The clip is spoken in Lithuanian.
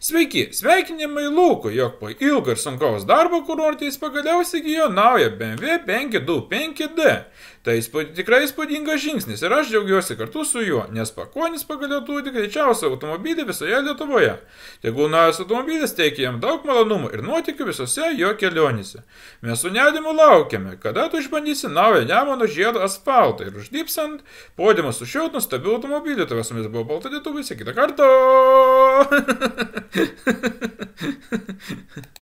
Sveiki, sveikinimai Lūkui, jog po ilgo ir sunkaus darbo kurortės pagaliau įsigijo naują BMW 525D. Tai tikrai įspūdingas žingsnis ir aš džiaugiuosi kartu su juo, nes pakonis pagaliau turi greičiausią automobilį visoje Lietuvoje. Tegul naujas automobilis teikia jam daug malonumų ir nuotykių visose jo kelionėse. Mes su nerimu laukiame, kada tu išbandysi naują Nemuno žiedo asfaltą ir uždipsant podiumą su šiuo nuostabiu automobiliu. Tavęs su mumis buvo Balta Lietuva, kitą kartą.